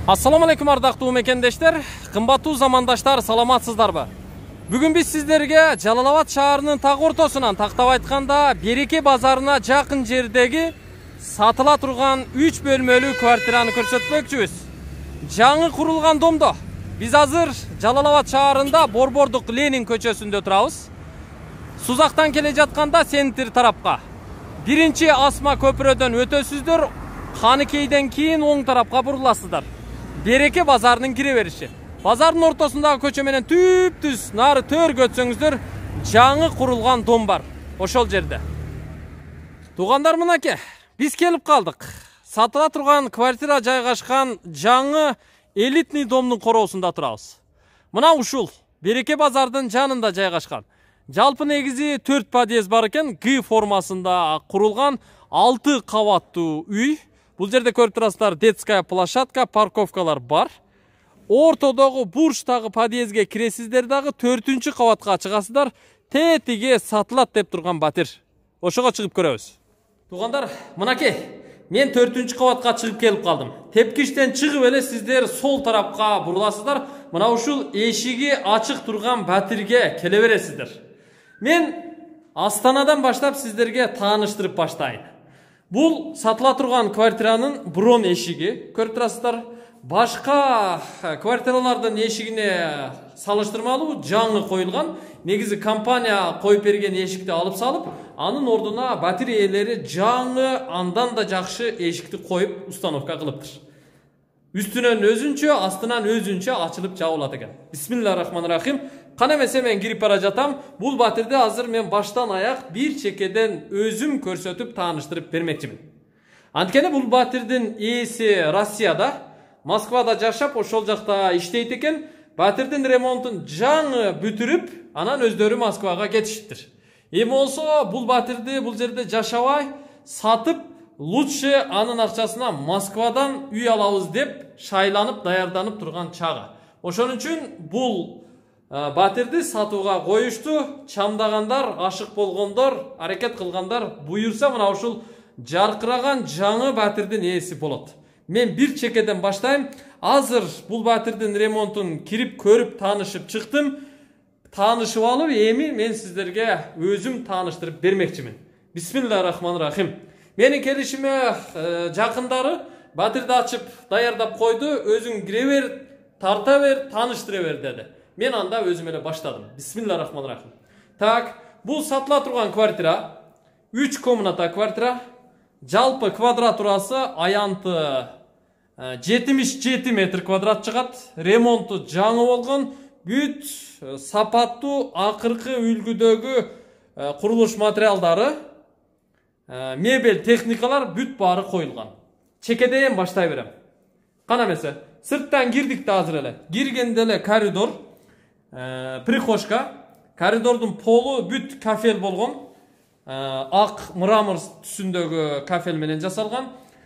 Assalamu alaikum ардактуу мекендештер, кымбаттуу замандаштар, саламатсыздарбы? Бүгүн биз сиздерге Жалал-Абад шаарынын так ортосунан, тактап айтканда Береке базарына жакын жердеги сатыла турган 3 бөлмөлүү квартираны көрсөтмөкчүбүз. Жаңы курулган домдо. Биз азыр Жалал-Абад шаарында Борбордук Ленин көчөсүндө турабыз. Сузактан келе жатканда центр тарапка биринчи Асма көпүрөдөн өтөсүздөр, Каныкейден кийин оң тарапка буруласыздар. Береке базарынын кире бериши. Базардын ортосундагы көчө менен түп-түз нары төргө өтсөңүздөр жаңы курулган дом бар. Ошол жерде. Туугандар, мынакей, биз келип калдык. Сатыла турган квартира жайгашкан жаңы элитный домдун короосунда турабыз. Мына ушул Береке базардын жанында жайгашкан. Жалпы негизи 4 подъезд бар экен, Г формасында курулган 6 кабаттуу үй. Бул жерде көрүп турасыздар, детская площадка, парковкалар бар. Ортодогу бурчтагы подъездге киресиздер дагы 4-чү кабатка чыгасыздар. Тетиге сатылат деп турган батир. Ошого чыгып көрөбүз. Туугандар, мынакей, мен 4-чү кабатка чыгып келип калдым. Тепкичтен чыгып эле сиздер сол тарапка буруласыздар. Мына ушул эшиги ачык турган батирге келе бересиздер. Мен Астанадан баштап сиздерге тааныштырып баштайын. Бул сатыла турган квартиранын брон эшиги. Көрүп турасыздар, башка квартиралардын эшигине салыштырмалуу жаңы коюлган. Негизи компания коюп берген эшикти алып салып, анын ордуна батир ээлери жаңы, андан да жакшы эшикти коюп установка кылыптыр. Үстүнөн өзүнчө, астынан өзүнчө ачылып жабылат экен. Бисмиллахиррахманиррахим. Кана эмесе мен кирип бара жатам. Бул батирди азыр мен баштан аяк бир чекеден өзүм көрсөтүп тааныштырып бермекчимин. Анткени бул батирдин ээси Россияда, Москвада жашап, ошол жакта иштейт экен. Батирдин ремонтун жаңы бүтүрүп, анан өздөрү Москвага кетишиптир. Эми болсо бул батирди бул жерде жашабай, сатып, лучше анын акчасына Москвадан үй алабыз деп шайланып, даярданып турган чагы. Ошон үчүн бул батирди сатууга коюшту. Чамдагандар, ашык болгондор, аракет кылгандар буюрса мына ушул жаркыраган жаңы батирдин ээси болот. Мен бир чекеден баштайм. Азыр бул батирдин ремонтун кирип көрүп таанышып чыктым. Таанышып алып, эми мен сиздерге өзүм тааныштырып бермекчимин. Бисмиллахиррахманиррахим. Менин келишиме жакындары батирди ачып даярдап койду. Өзүң кире бер, тарта бер, тааныштыра бер деди. Мен анда өзүм эле баштадым. Бисмиллахиррахманиррахим. Так, бул сатыла турган квартира 3 комната квартира. Жалпы квадратурасы аянты 77 метр квадрат чыгат. Ремонту жаңы болгон, бүт сапаттуу акыркы үлгүдөгү курулуш материалдары, мебель, техникалар бүт баары коюлган. Чекеден баштай берем. Кана эмесе, сырттан кирдик да азыр эле. Киргенде эле коридор, прихожка, коридордун полу бүт кафел болгон. Ак мрамор түсүндөгү кафел менен жасалган.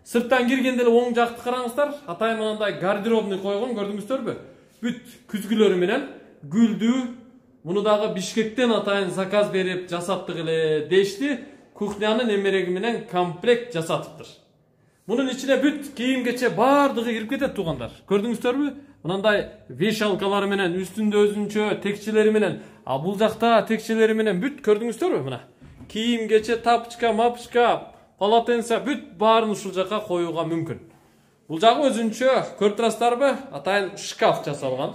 Сырттан киргенде эле оң жакты караңыздар, атайын мындай гардеробный койгон, көрдүңүздөрбү? Бүт күзгүлөрү менен гүлдүү. Муну дагы Бишкектен атайын заказ берип жасаттык эле дешти. Кухнянын эмереги менен комплект жасатыптыр. Мунун ичине бүт кийим-кече бардыгы кирип кетет, туугандар. Көрдүңүздөрбү? Мындай вешалкалары менен, үстүндө өзүнчө текчелери менен, а бул жакта текчелери менен бүт көрдүңүздөрбү? Мына кийим-кече, тапчка, мапчка, полотенце бүт баарын ушул жака коюуга мүмкүн. Бул жагы өзүнчө көрүп турасыздарбы? Атайын шкаф жасалган.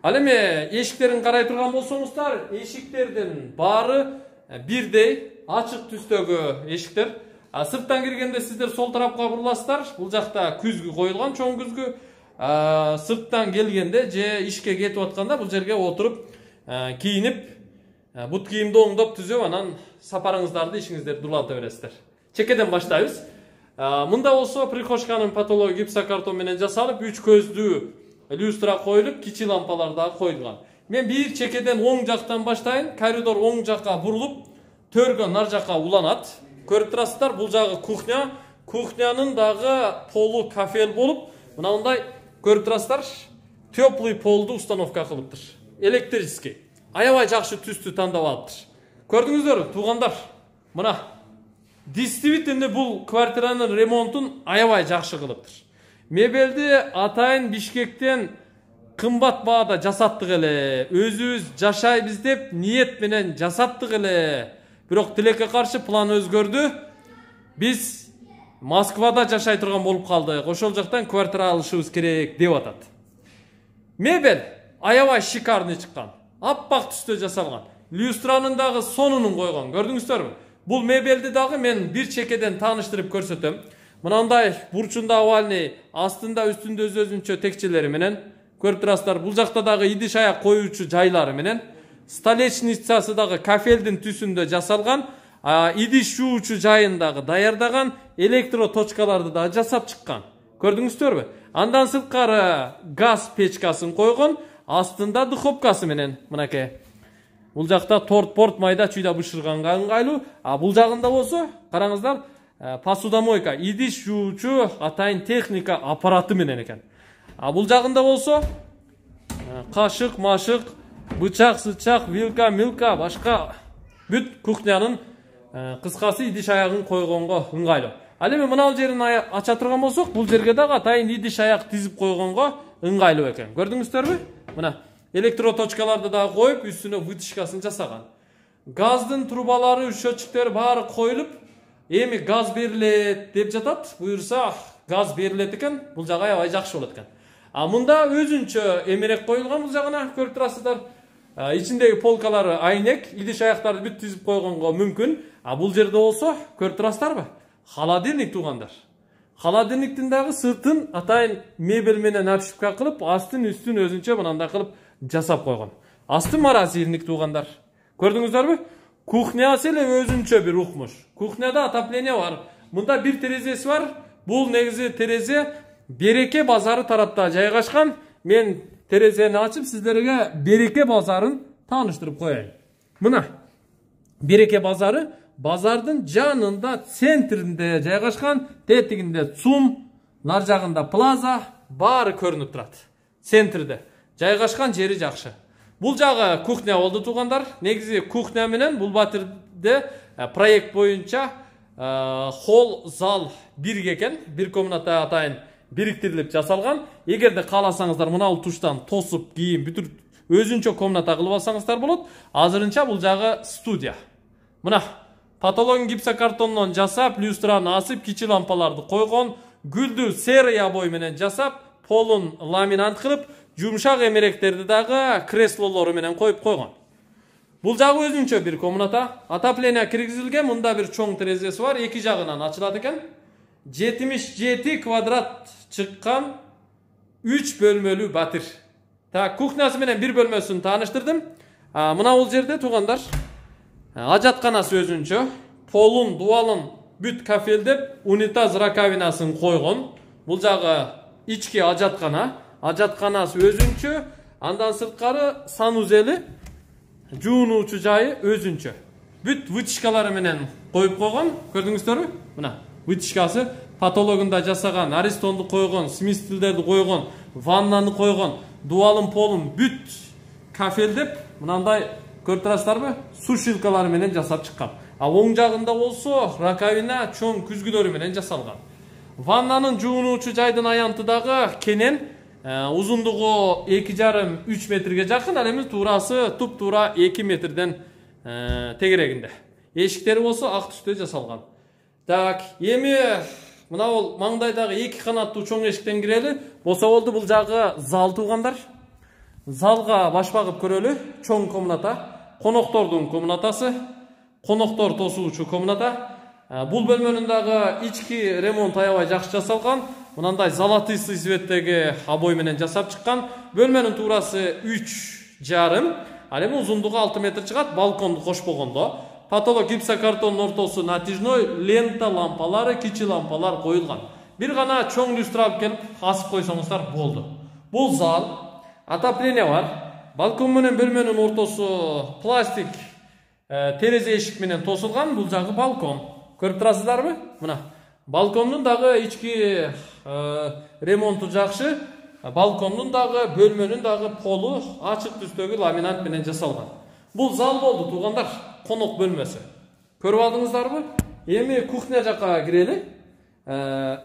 Ал эми эшиктерин карай турган болсоңуздар, эшиктердин баары бирдей ачык түстөгү эшиктер. Сырттан киргенде сиздер сол тарапка буруласыздар. Бул жакта күзгү коюлган, чоң күзгү. Сырттан келгенде же ишке кетип атканда бул жерге отуруп кийинип, бут кийимди оңдоп түзөп, анан сапарыңыздарды, ишиңиздерди уланта бересиздер. Чекеден баштайбыз. Мында болсо прихожканын потологу гипсокартон менен жасалып, 3 көздүү люстра коюлуп, кичи лампалар дагы коюлган. Мен бир чекеден оң жактан баштайын. Коридор оң жакка бурулуп, төргө нар жакка уланат. Көрүп турасыздар, бул жагы кухня. Кухнянын дагы полу кафел болуп, мына мындай көрүп турасыздар, теплый полду установка кылыптыр. Электрический. Аябай жакшы түстү тандап алыптыр. Көрдүңүздөрбү, туугандар? Мына действительно бул квартиранын ремонтун аябай жакшы кылыптыр. Мебелди атайын Бишкектен кымбат баада жасаттык эле. Өзүбүз жашайбыз деп ниет менен жасаттык эле. Бирок тилекке каршы план өзгөрдү. Биз Москвада жашай турган болуп калдык. Ошол жактан квартира алышыбыз керек деп атат. Мебель аябай шикарный чыккан. Аппак түстө жасалган. Люстранын дагы сонунун койгон. Көрдүңүздөрбү? Бул мебелди дагы мен бир чекеден тааныштырып көрсөтөм. Мынандай бурчунда овальный, астында үстүндө өзүнчө текчелери менен көрүп турасыздар. Бул жакта дагы идиш аяк коюучу жайлары менен, столешницасы дагы кафелдин түсүндө жасалган, идиш жуучу жайын дагы даярдаган, электро точкаларды дагы жасап чыккан. Көрдүңүздөрбү? Андан сырткары газ печкасын койгон, астында духовкасы менен мынакей. Бул жакта торт-порт майда чүйдө бышырганга ыңгайлуу. Бул жагында болсо, караңыздар, посудомойка, идиш жуучу атайын техника аппараты менен экен. Бул жагында болсо, кашык, машык, бычак, сычак, вилка, милка, башка бүт кухнянын кыскасы идиш аягын койгонго ыңгайлуу. Ал эми мына жерин ача турган болсок, бул жерге дагы атайын идиш аяк тизип койгонго ыңгайлуу экен. Көрдүңүздөрбү? Мына электроточкаларды дагы коюп, үстүнө вытяжкасын жасаган. Газдын трубалары, счетчиктери баары коюлуп, эми газ берилет деп жатат. Буюрса, газ берилет экен. Бул жагы аябай жакшы болот экен. Мында өзүнчө эмерек коюлган, бул жагына көрүп турасыздар. Ичиндеги полкалары айнек, идиш аяктарды бүт тизип койгонго мүмкүн. Бул жерде болсо, көрүп турасыздарбы? Холодильник туугандар. Холодильниктин дагы сыртын атайын мебель менен обшивка кылып, астын үстүн өзүнчө мынандай кылып жасап койгон. Асты морозильник туугандар. Көрдүңүздөрбү? Кухнясы эле өзүнчө бир укмуш. Кухняда отопление бар. Мында бир терезеси бар. Бул негизи терезе Береке базары тарапта жайгашкан. Мен терезени ачып сиздерге Береке базарын тааныштырып коеюн. Мына Береке базары базардын жанында, центринде жайгашкан. Тетигинде ЦУМ, нар жагында плаза, баары көрүнүп турат. Центрде жайгашкан жери жакшы. Бул жагы кухня болду туугандар. Негизи кухня менен бул батирде проект боюнча холл, зал бирге экен. Бир комната атайын бириктирилип жасалган. Эгерде кааласаңыздар мына бул туштан тосуп, кийин бүтүр өзүнчө комната кылып алсаңыздар болот. Азырынча бул жагы студия. Мына потологун гипсокартондон жасап, люстраны асып, кичи лампаларды койгон, гүлдү серый обой менен жасап, полун ламинат кылып, жумшак эмеректерди дагы креслолору менен коюп койгон. Бул жагы өзүнчө бир комната. Отопление киргизилген, мында бир чоң терезеси бар, эки жагынан ачылат экен. 77 квадрат чыккан 3 бөлмөлүү батир. Кухнясы менен бир бөлмөсүн тааныштырдым. Мына бул жерде туугандар, ажатканасы өзүнчө, полун, дуалын бүт кафелдеп, унитаз раковинасын койгон. Бул жагы ички ажаткана. Ажатканасы өзүнчө, андан сырткары санузели, жуунуучу жайы өзүнчө. Бүт вытяжкалары менен коюп койгон. Көрдүңүздөрбү? Мына вытяжкасы потологунда жасаган, аристонду койгон, сместилдерди койгон, ваннаны койгон, дуалын полун бүт кафелдеп, мынандай көрүп турасыздарбы? Сушилкалары менен жасап чыккан. Оң жагында болсо раковина чоң күзгүлөрү менен жасалган. Ваннанын жуунуучу жайдын аянты дагы кенен, узундугу 2,5-3 метрге жакын, ал эми туурасы туп-туура 2 метрден тегерегинде. Эшиктери болсо ак түстө жасалган. Эми мына бул маңдайдагы 2 канаттуу чоң эшиктен кирели. Болсо болду, бул жагы зал туугандар. Залга баш багып көрөлү. Чоң комната, коноктордун комнатасы, коноктор тосуучу комната. Бул бөлмөнүн дагы ички ремонт аябай жакшы жасалган. Мынандай золотый цветтеги обой менен жасап чыккан. Бөлмөнүн туурасы 3,5, ал эми узундугу 6 метр чыгат, балконду кошпогондо. Потолок гипсокартондун ортосу натяжной, лента лампалары, кичи лампалар коюлган. Бир гана чоң люстра алып келип асып койсоңуздар болду. Бул зал, отопление бар. Балкон менен бөлмөнүн ортосу пластик терезе эшик менен тосулган. Бул жагы балкон. Көрүп турасыздарбы? Мына балкондун дагы ички ремонту жакшы. Балкондун дагы, бөлмөнүн дагы полу ачык түстөгү ламинат менен жасалган. Бул зал болду туугандар, конок бөлмөсү. Көрүп алдыңыздарбы? Эми кухня жакка кирели.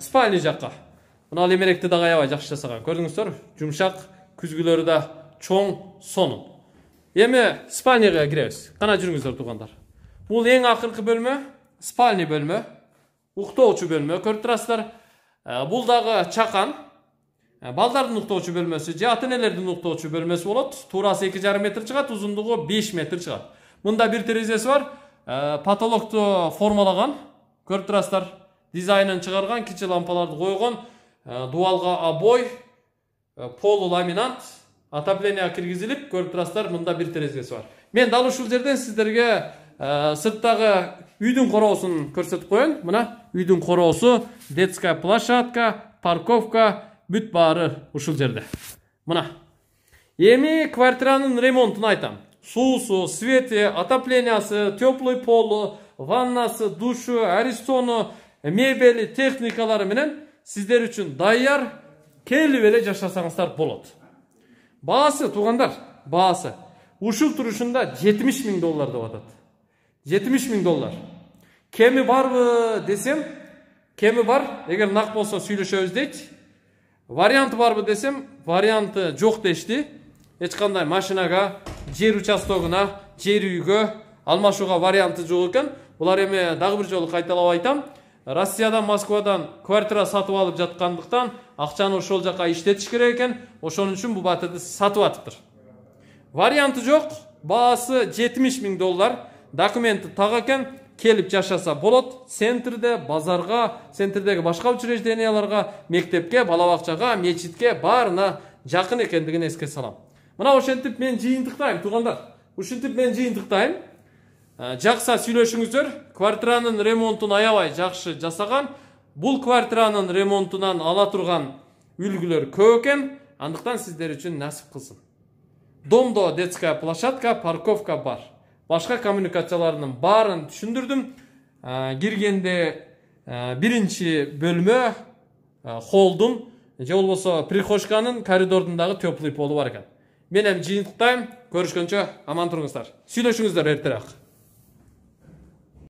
Спальня жакка. Мына лемеректи дагы аябай жакшы жасаган. Көрдүңүздөр? Жумшак, күзгүлөрү да чоң, сонун. Эми спальняга киребиз. Кана жүрүңүздөр туугандар. Бул эң акыркы бөлмө, спальня бөлмө, уктоочу бөлмө. Көрүп турасыздар. Бул дагы чакан. Балдардын уктоочу бөлмөсү, же ата-энелердин уктоочу бөлмөсү болот. Туурасы 2,5 метр чыгат, узундугу 5 метр чыгат. Мында бир терезеси бар. Потолокту формалаган. Көрүп турасыздар. Дизайнын чыгарган, кичи лампаларды койгон, дуалга обой, полу ламинат, отопление киргизилип, көрүп турасыздар, мында бир терезеси бар. Мен дал ушул жерден сиздерге сырттагы үйдүн короосун көрсөтүп коеюн. Мына үйдүн короосу, детская площадка, парковка, бүт баары ушул жерде. Мына. Эми квартиранын ремонтун айтам. Суусу, свети, отоплениясы, теплый полу, ваннасы, душу, аристону, мебели, техникалары менен сиздер үчүн даяр, келип эле жашасаңыздар болот. Баасы, туугандар, баасы. Ушул турушунда $70,000 деп атат. $70,000. Кеми барбы десем, кеми бар. Эгер нак болсо сүйлөшөбүз дейт. Варианты барбы десем, варианты жок дешти. Эч кандай машинага, жер участогуна, жер үйгө алмашууга варианты жок экен. Булар эми дагы бир жолу кайталап айтам. Россиядан, Москвадан квартира сатып алып жаткандыктан акчаны ошол жака иштетиш керек экен. Ошон үчүн бул батырды сатып атыптыр. Варианты жок, баасы $70,000. Документи так экен, келип жашаса болот. Центрде, базарга, центрдеги башка учрежденияларга, мектепке, бала бакчага, мечитке баарына жакын экендигин эске салам. Мына ошентип мен жыйынтыктайм, туугандар. Ушинтип мен жыйынтыктайм. Жакса сүйлөшүңүздөр. Квартиранын ремонтун аябай жакшы жасаган. Бул квартиранын ремонтунан ала турган үлгүлөр көп экен. Андыктан сиздер үчүн насип кылсын. Домдо детская площадка, парковка бар. Башка коммуникацияларынын баарын түшүндүрдүм. Киргенде биринчи бөлмө, холдун, же болбосо прихожканын коридордундагы теплый полу бар экен. Мен эми жыйынтыктайм. Көрүшкөнчө аман туруңуздар. Сүйлөшүңүздөр эртерээк.